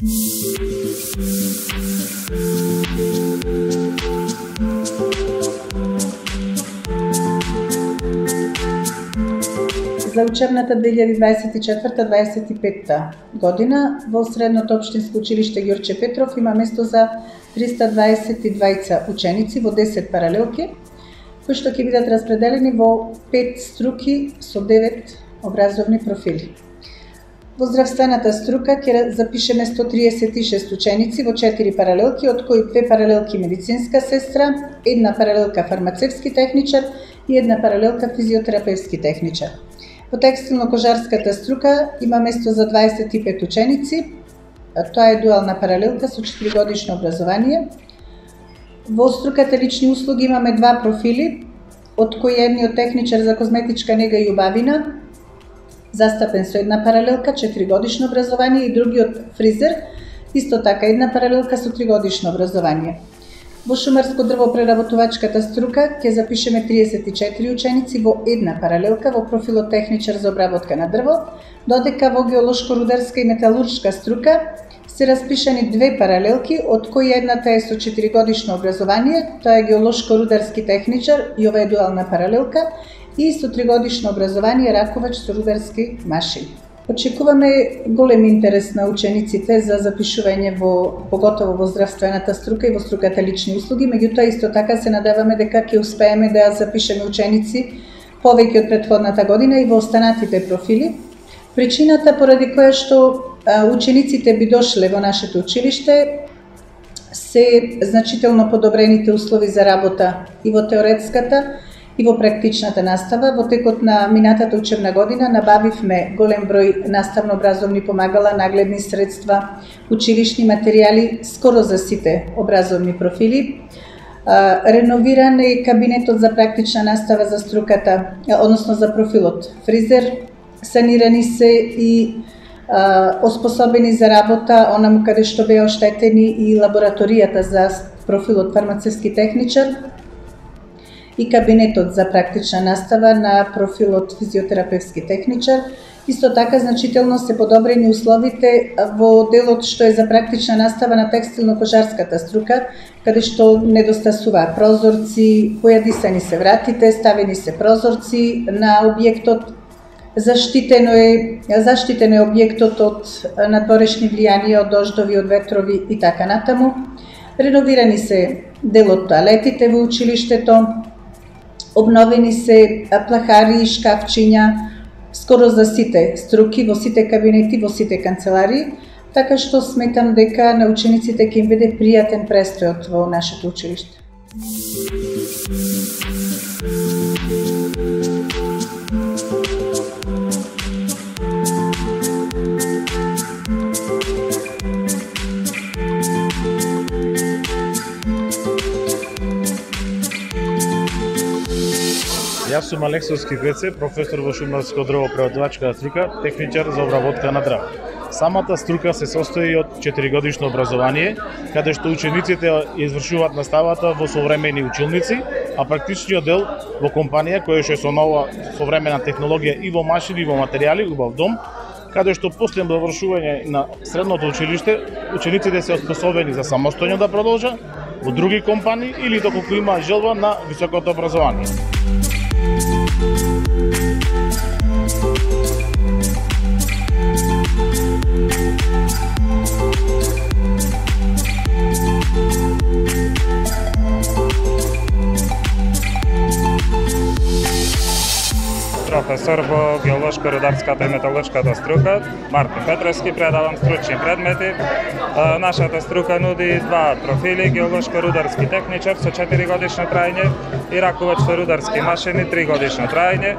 За учебната 2024-2025 година во Средното општинско училиште Ѓорче Петров има место за 322 ученици во 10 паралелки, кои што ќе бидат распределени во 5 струки со 9 образовни профили. Во здравствената струка ќе запишеме 136 ученици во 4 паралелки, од кои 2 паралелки медицинска сестра, 1 паралелка фармацевски техничар и 1 паралелка физиотерапевски техничар. Во текстилно-кожарската струка има место за 25 ученици, тоа е дуална паралелка со 4-годишно образование. Во струката лични услуги имаме 2 профили, од кои едниот техничар за козметичка нега и убавина, застапен со 1 паралелка, 4-годишно образование, и другиот фризер, исто така 1 паралелка со 3-годишно образование. Во шумарско-дрвопреработувачката струка ќе запишеме 34 ученици во 1 паралелка во профилот техничар за обработка на дрво, додека во геолошко-рударска и металуршка струка се распишани 2 паралелки, од кои едната е со 4-годишно образование, тоа е геолошко-рударски техничар и ова е дуална паралелка, и со 3-годишно образование раковач со рударски машини. Очекуваме голем интерес на учениците за запишување поготово во здравствената струка и во струката лични услуги, меѓутоа исто така се надеваме дека ќе успееме да запишеме ученици повеќе од претходната година и во останатите профили. Причината поради која што учениците би дошле во нашето училиште се значително подобрените услови за работа и во теоретската и во практичната настава. Во текот на минатата учебна година набавивме голем број наставно-образовни помагала, нагледни средства, училишни материјали скоро за сите образовни профили. Реновиран е кабинетот за практична настава за струката, односно за профилот фризер, санирани се и оспособени за работа онаму каде што беа оштетени и лабораторијата за профилот фармацевски техничар и кабинетот за практична настава на профилот физиотерапевски техничар. Исто така значително се подобрени условите во делот што е за практична настава на текстилно-кожарската струка, каде што недостасува прозорци, појадисани се вратите, ставени се прозорци на објектот, заштитено е објектот од надворешни влијанија, од дождови, од ветрови и така натаму. Реновирани се дел од тоалетите во училиштето, обновени се плахари и шкафчиња скоро за сите струки, во сите кабинети, во сите канцеларии, така што сметам дека на учениците ќе им биде пријатен престојот во нашето училиште. Јас сум Алексовски Греце, професор во шумарско-дрвопреработувачката струка, техничар за обработка на дрво. Самата струка се состои од 4-годишно образование, каде што учениците извршуваат наставата во современи училници, а практичниот дел во компанија која што е со нова современа технологија и во машини и во материјали, убав дом, каде што после довршување на средното училиште, учениците се оспособени за самостојно да продолжат во други компании или доколку има желба на високото образование. Професор во геолошко-рударската и металуршката струка, Мартин Петровски, предавам стручни предмети. Нашата струка нуди 2 профили, геолошко-рударски техничар со 4-годишно траење и раковач со рударски машини 3-годишно траење.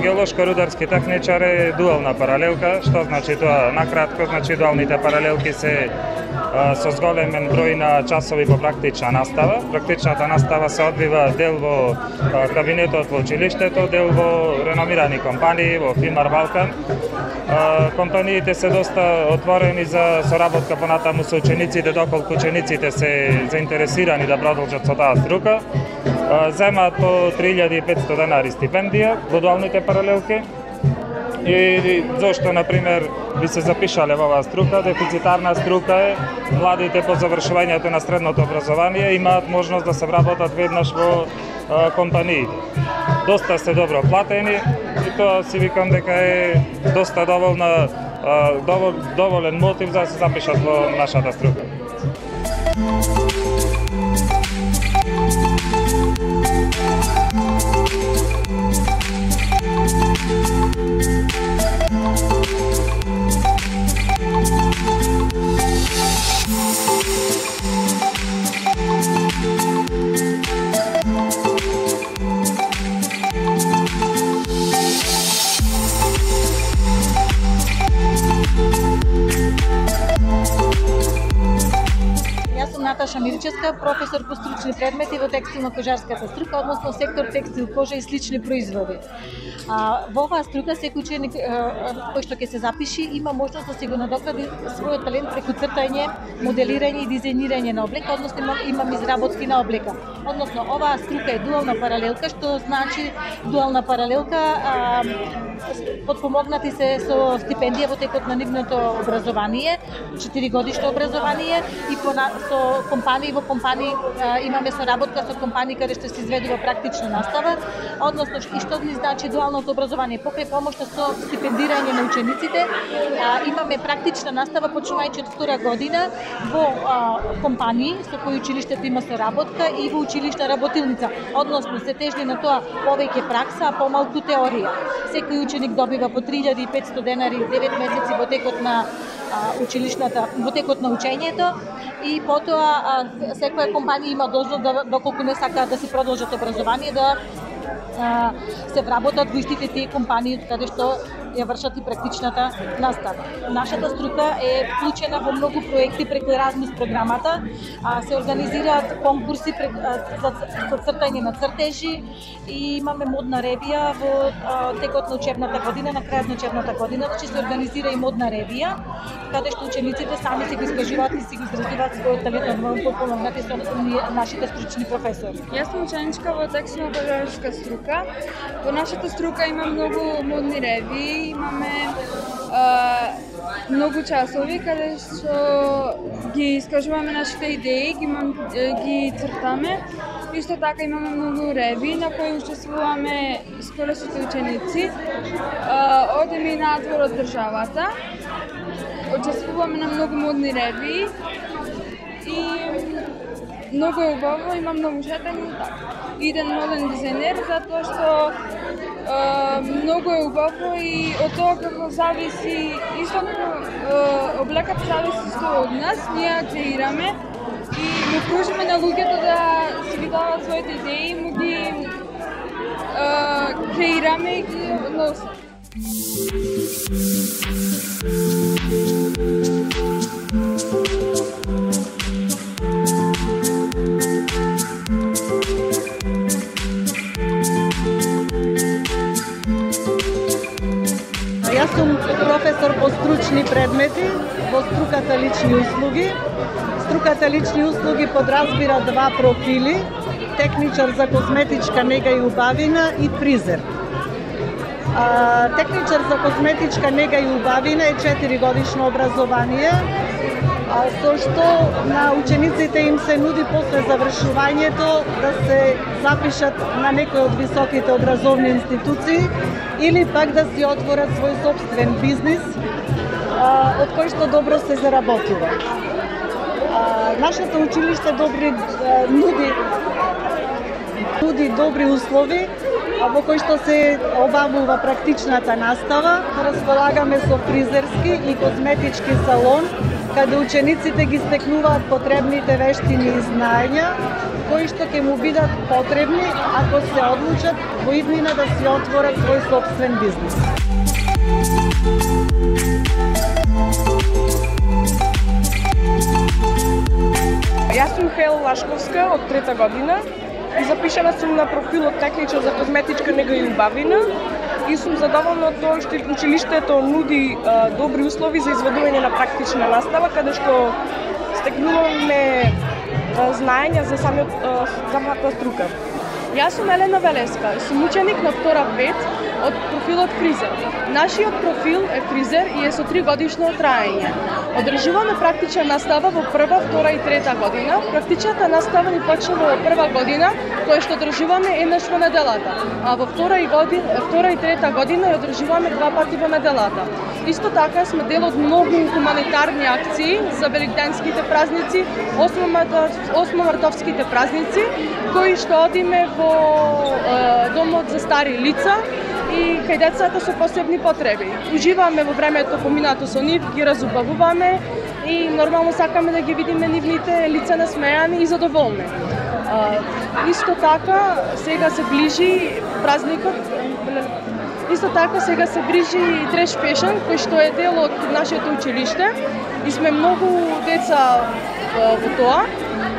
Геолошко-рударски техничар е дуална паралелка, што значи тоа накратко, значи дуалните паралелки се со зголемен број на часови по практична настава. Практичната настава се одвива дел во кабинетот во училиштето, дел во реномирани компании, во Фимар Балкан. Компаниите се доста отворени за соработка понатаму со учениците, доколку учениците се заинтересирани да продолжат со таа струка. Земаат по 3500 денари стипендија во дуалните паралелки. и зошто, например, би се запишале во оваа струка. Дефицитарна струка е, младите по завршувањето на средното образование имаат можност да се вработат веднаш во компаниите. Доста се добро платени и тоа си викам дека е доста доволен мотив за да се запишат во нашата струка. Наташа Мирчевска, професор по стручни предмети во текстилно-кожарската струка, односно сектор текстил, кожа и слични производи. Во оваа струка секој ученик кој што ќе се запиши има можност да се го надокради својот талент преку цртање, моделирање и дизајнирање на облека, односно имам изработки на облека. Односно оваа струка е дуална паралелка, што значи дуална паралелка подпомогнати се со стипендија во текот на нивното образование, 4-годишно образование и со компании во компании имаме соработка со компании каде што се изведува практична настава, односно и што ни значи дуалното образование, покрај помошта со стипендирање на учениците, имаме практична настава почнувајќи од втора година во компании со кои училиштето има соработка и во училишна работилница, односно се тежни на тоа повеќе пракса, а помалку теорија. Секој ученик добива по 3500 денари 9 месеци во текот на во текот на учењето и потоа секоја компанија има должност доколку не сакаат да си продолжат образование да се вработат во истите тие компании каде што ја вршат и практичната настава. Нашата струка е вклучена во многу проекти преку Еразмус програмата, се организираат конкурси за цртање на цртежи и имаме модна ревија во текот на учебната година, на крајот на учебната година, значи се организира и модна ревија, каде што учениците сами се го искажуваат и се го изразуваат својот талент, помогнати со нашите стручни професори. Јас сум ученичка во текстилно-кожарска струка. Во нашата струка има многу модни ревии, имаме многу часови каде што ги искажуваме нашите идеи, ги цртаме. Исто така имаме многу реви на кои учествуваме скоро сите ученици. Одеме и надвор од државата. Учествуваме на многу модни реви и многу е убаво, има многу шетање. Иден моден дизајнер затоа што многу е убаво и од тоа како зависи, исто облеката зависи од нас, ние креираме и му пружиме на луѓето да си ги дават своите идеи, му ги креираме и ги носат. Јас сум професор по стручни предмети во струката лични услуги. Струката лични услуги подразбира два профили: техничар за козметичка нега и убавина и фризер. Техничар за козметичка нега и убавина е 4-годишно образование, со што на учениците им се нуди после завршувањето да се запишат на некој од високите образовни институции или пак да си отворат свој собствен бизнис од кој што добро се заработува. Нашето училиште нуди добри услови во кој што се обавува практичната настава. Располагаме со фризерски и козметички салон, каде учениците ги стекнуваат потребните вештини и знаења, кои што ќе му бидат потребни ако се одлучат во иднина да си отворат свој собствен бизнис. Јас сум Хел Лашковска од 3-та година и запишана сум на профилот техничар за козметичка нега и убавина и сум задоволна од тоа што училиштето нуди добри услови за изведување на практична настава, каде што стекнуваме знаења за самата струка. Јас сум Елена Велеска, сум ученик на втора 5 од профилот фризер. Нашиот профил е фризер и е со 3 годишно траење. Одржуваме практична настава во прва, втора и трета година. Практичната настава ни почнува во прва година, која што одржуваме еднаш во неделата, а во втора и трета година ја одржуваме 2 пати во неделата. Исто така сме дел од многу хуманитарни акции за великденските празници, 8-мартовските празници, кои што одиме во домот за стари лица и кај децата со посебни потреби. Уживаме во времето поминато со нив, ги разубавуваме и нормално сакаме да ги видиме нивните лица насмеани и задоволни. Исто така сега се ближи празникот. Исто така сега се ближи Треш Фешн, кој што е дел од нашето училиште и сме многу деца во тоа.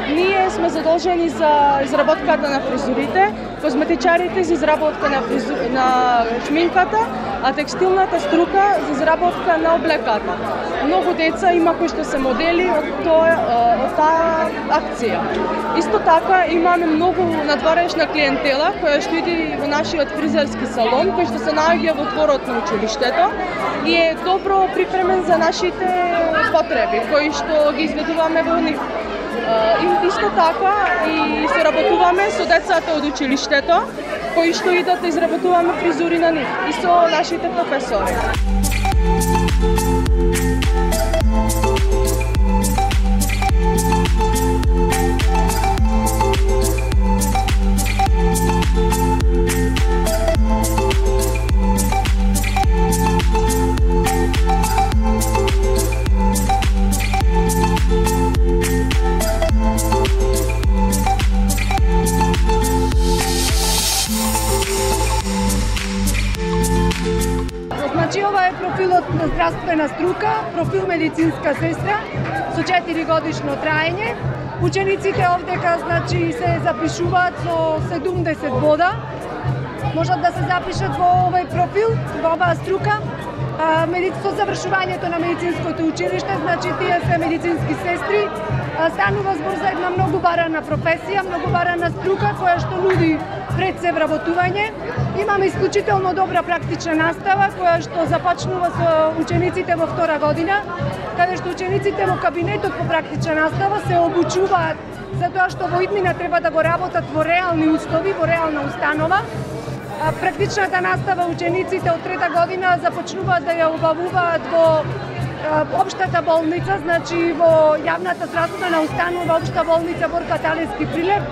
Ние сме задолжени за изработката на фризурите, козметичарите за изработка на шминката, а текстилната струка за изработка на облеката. Многу деца има кои што се модели од таа акција. Исто така имаме многу надворешна клиентела која што иде во нашиот фризерски салон, кој што се наоѓа во дворот на училиштето и е добро припремен за нашите потреби кои што ги изведуваме во нив. Исто така и се работуваме со децата од училиштето кои што идат да изработуваме фризури на нив и со нашите професори. Значи, ова е профилот на здравствена струка, профил медицинска сестра со 4 годишно траење. Учениците овдека значи се запишуваат со 70 бода. Можат да се запишат во овој профил, во оваа струка. Со завршувањето на медицинското училиште, значи тие се медицински сестри. Станува збор за една многу барана професија, многу барана струка која што нуди пред се вработување. Имаме исклучително добра практична настава која што започнува со учениците во втора година, каде што учениците во кабинетот по практична настава се обучуваат за тоа што во иднина треба да го работат во реални услови, во реална установа. Практичната настава учениците од трета година започнуваат да ја обавуваат во општата болница, значи во јавната здравствена установа општа болница Борка Талевски Прилеп,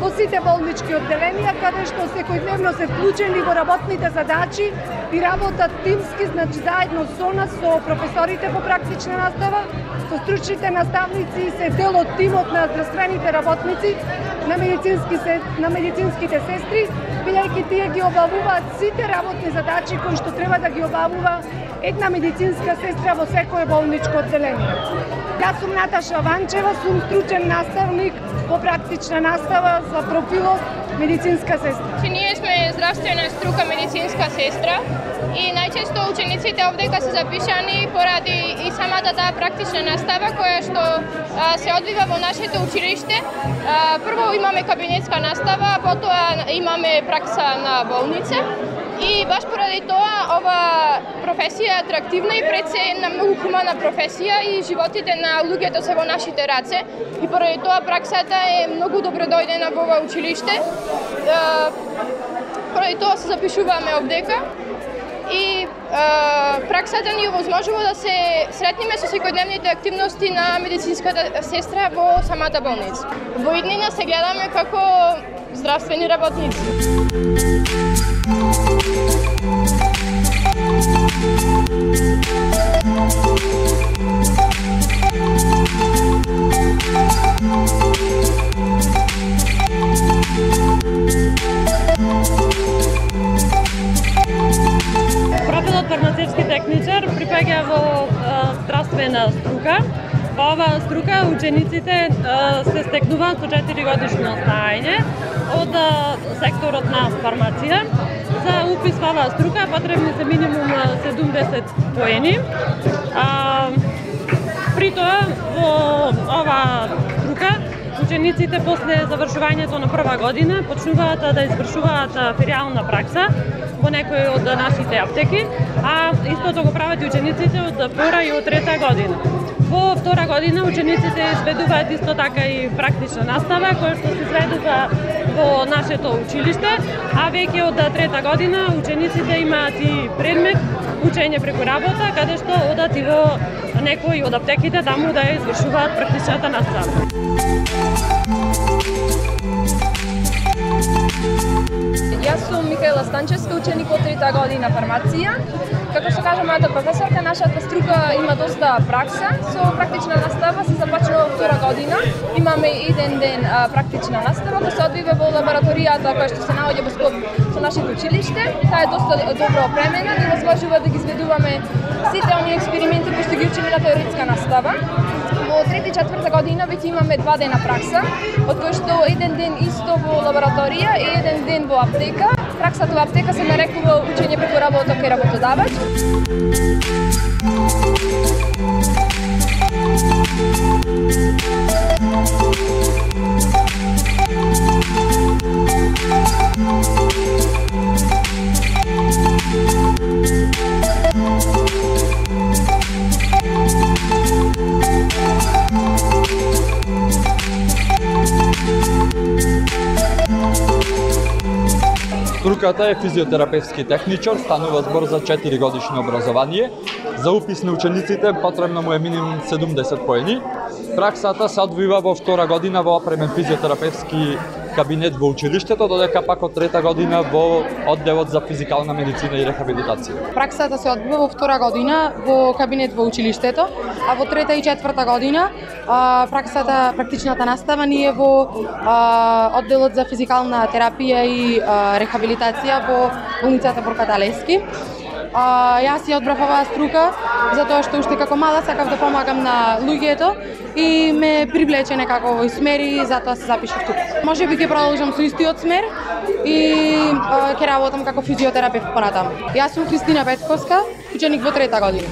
во сите болнички одделенија, каде што секојдневно се вклучени во работните задачи и работат тимски, значи заедно со нас, со професорите по практична настава, со стручните наставници и се дел од тимот на здравствените работници, на медицинските сестри, бидејќи тие ги обавуваат сите работни задачи кои што треба да ги обавува една медицинска сестра во секое болничко одделение. Јас сум Наташа Ванчева, сум стручен наставник по практична настава за профилот медицинска сестра. Ние сме здравствена струка медицинска сестра и најчесто учениците овдека се запишани поради и самата таа практична настава која што се одвива во нашето училиште. Прво имаме кабинетска настава, потоа имаме пракса на болница. И баш поради тоа ова професија е атрактивна и пред се една многу хумана професија и животите на луѓето се во нашите раце. И поради тоа праксата е многу добродојдена во ова училиште. Поради тоа се запишуваме овдека и праксата ни овозможува да се сретнеме со секојдневните активности на медицинската сестра во самата болница. Во иднина се гледаме како здравствени работници. Профилот фармацевски техничар припаѓа во здравствена струка. Во оваа струка учениците се стекнуваат со 4 годишно знаење од секторот на фармација. За упис во оваа струка потребни се минимум 70 поени. При тоа во оваа струка учениците после завршувањето на прва година почнуваат да извршуваат филиална пракса во некои од нашите аптеки, а истото го прават и учениците од втора и од трета година. Во втора година учениците изведуваат исто така и практична настава која што се изведува во нашето училиште, а веќе од трета година учениците имаат и предмет учење преку работа, каде што одат и во некои од аптеките таму да ја извршуваат практичната настава. Јас сум Михаела Станчевска, ученик од трета година фармација. Како што кажа мојата професорка, нашата струка има доста пракса. Со практична настава се започнува во втора година. Имаме еден ден практична настава која се одвива во лабораторијата која што се наоѓа во склоп со нашето училиште. Таа е доста добро опремена и возможува да ги изведуваме сите оние експерименти кои што ги учиме на теоретска настава. Во трета и четврта година веќе имаме 2 дена пракса, од кои што еден ден исто во лабораторија и еден ден во аптека. Праксата во аптека се нарекува учење преку работа кај работодавач. Струката е физиотерапевски техничар, станува збор за 4 годишно образование. За упис на учениците потребно му е минимум 70 поени. Праксата се одвива во втора година во опремен физиотерапевски кабинет во училиштето, додека пак од трета година во одделот за физикална медицина и рехабилитација. Праксата се одвива во втора година во кабинет во училиштето, а во трета и четврта година практичната настава ни е во одделот за физикална терапија и рехабилитација во болницата Борката Лески. Јас ја одбрав оваа струка затоа што уште како мала сакав да помагам на луѓето и ме привлече некако овој смер и затоа се запишав тука. Можеби ќе продолжам со истиот смер и ќе работам како физиотерапевт понатаму. Јас сум Христина Петковска, ученик во трета година.